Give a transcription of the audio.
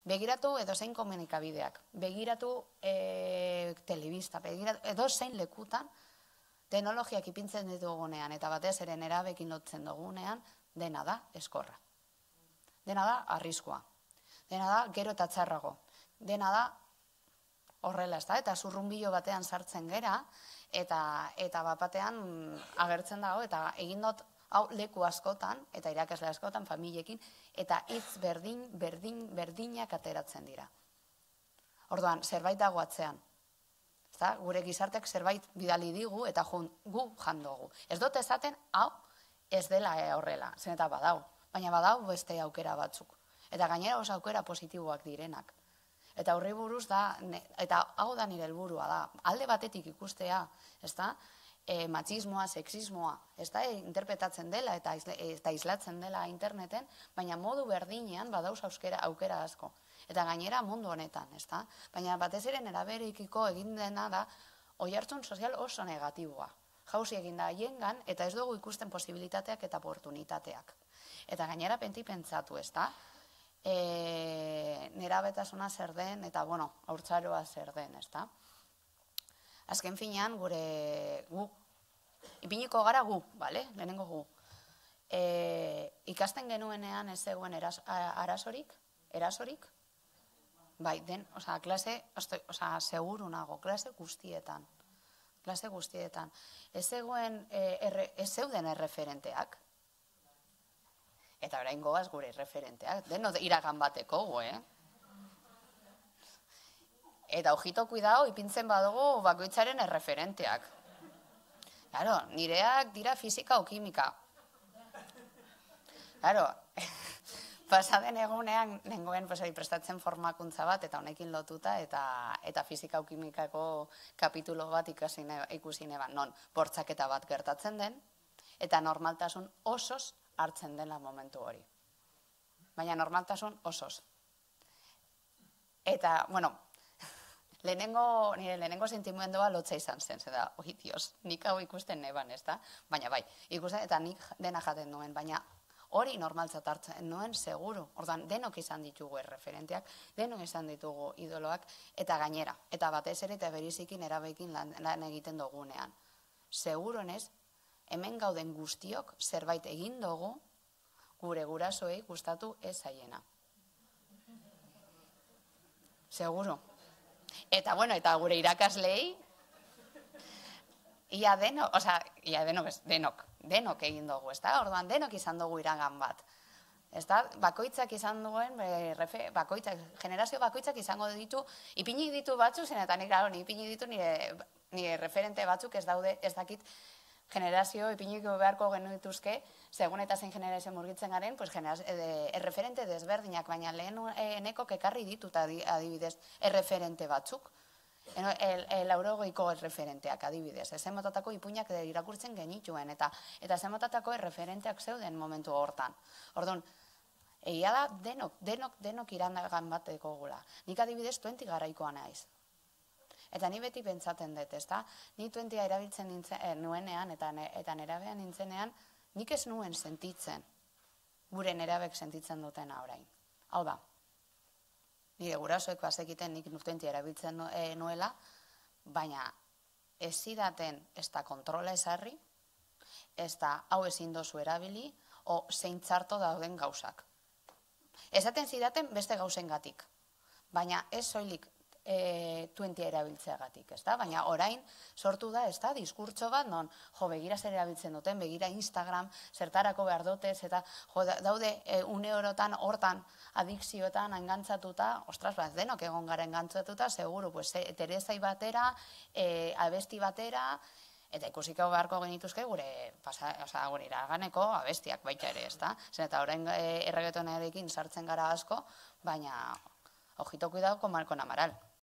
Begiratu edozein komunikabideak, begiratu telebista, begiratu edozein lekutan, teknologiak ipintzen ditugunean eta batez ere nerabekin lotzen dugunean, dena da eskorra. Dena da arriskua. Dena da gero eta txarrago. Dena da horrela, ez da? Eta zurrunbilo batean sartzen gera, eta batean agertzen dago, eta egin dut hau leku askotan, eta irakasle askotan, familiekin, eta hitz berdinak ateratzen dira. Orduan, zerbait dago atzean. Gure gizartek zerbait bidali digu, eta gu jandogu. Ez dut esaten, hau ez dela horrela, zen eta badau. Baina badau beste aukera batzuk. Eta gainera oso aukera positiboak direnak. Eta horri buruz da, eta hau da nire helburua da, alde batetik ikustea, ez da, matxismoa, sexismoa, ez da, interpretatzen dela eta islatzen dela interneten, baina modu berdinean badauz aukera asko. Eta gainera mundu honetan, ez da? Baina batez ere neraberekiko egin dena da, oihartzun sozial oso negatiboa. Jauzi egin da haiengan, eta ez dugu ikusten posibilitateak eta oportunitateak. Eta gainera pentsatu, ez da? Nerabetasuna zer den, eta, bueno, haurtzaroa zer den, ez da? Azken finean, gu, ipiniko gara gu, bale? Lehenengo gu. Ikasten genuenean ez zegoen erasorik? Bai, klase, seguru nago, klase guztietan. Ez zeuden erreferenteak. Eta orain goaz gure erreferenteak, deno iragan bateko gu, Eta ojito kuidao, ipintzen badugu bakoitzaren erreferenteak. Claro, nireak dira fisika o kimika. Claro, pasaden egunean nengoen prestatzen formakuntza bat, eta honekin lotuta, eta fisika o kimikako kapitulo bat ikusi neban, non bortzaketa bat gertatzen den, eta normaltasun osoz hartzen dela momentu hori. Baina normaltasun osoz. Eta, bueno, nire lehenengo sentimendua lotza izan zen, zeda, oi, dios, nik hau ikusten neban, ez da? Baina bai, ikusten eta nik dena jaten nuen, baina hori normaltzat hartzen nuen seguru. Ordan denok izan ditugu erreferenteak, denok izan ditugu idoloak, eta gainera, eta batez ere eta berizikin erabekin lan egiten dugunean. Seguronez, hemen gauden guztiok zerbait egin dugu gure gurasoei gustatu ez zaiena. Seguro. Eta, bueno, eta gure irakaslei, denok egin dugu, ez da? Orduan, denok izan dugu iragan bat. Ez da? Bakoitzak izan duen, generazio bakoitzak izango ditu, ipinik ditu batzuk, zen eta nik ipinik ditu nire referente batzuk ez daude, ez dakit, generazio ipiniko beharko genituzke, segun eta zein generazio murgitzen garen, erreferente desberdinak, baina leheneko ekarri ditut adibidez erreferente batzuk. Laurogeiko erreferenteak adibidez. Ezen motatako ipuinak irakurtzen genituen, eta ezen motatako erreferenteak zeuden momentu hortan. Orduan, egia da denok irandagan bateko gula. Nik adibidez 20 garaikoa naiz. Eta ni beti pentsatzen dut, ez da? Ni 20a erabiltzen nuenean eta nerabean nintzenean, nik ez nuen sentitzen, gure nerabek sentitzen dutena orain. Hau da, nire gurasoek bazekiten nik 20a erabiltzen nuela, baina ez zidaten ez da kontrola ezarri, ez da hau ezin dozu erabili, o zein txarto dauden gauzak. Esaten zidaten beste gauzengatik, baina ez soilik 20a erabiltzeagatik, ez da? Baina orain sortu da, ez da, diskurtso bat, non, begira zer erabiltzen duten, begira Instagram, zertarako behar dutez, eta daude une orotan, hortan, adikzioetan, engantzatuta, ostras, denok egon gara engantzatuta, seguru, Teresai batera, abesti batera, eta ikusiko beharko genituzke gure iraganeko abestiak baita ere, ez da? Zen eta orain erregetonarekin sartzen gara asko, baina ojito kuidao con Amaral.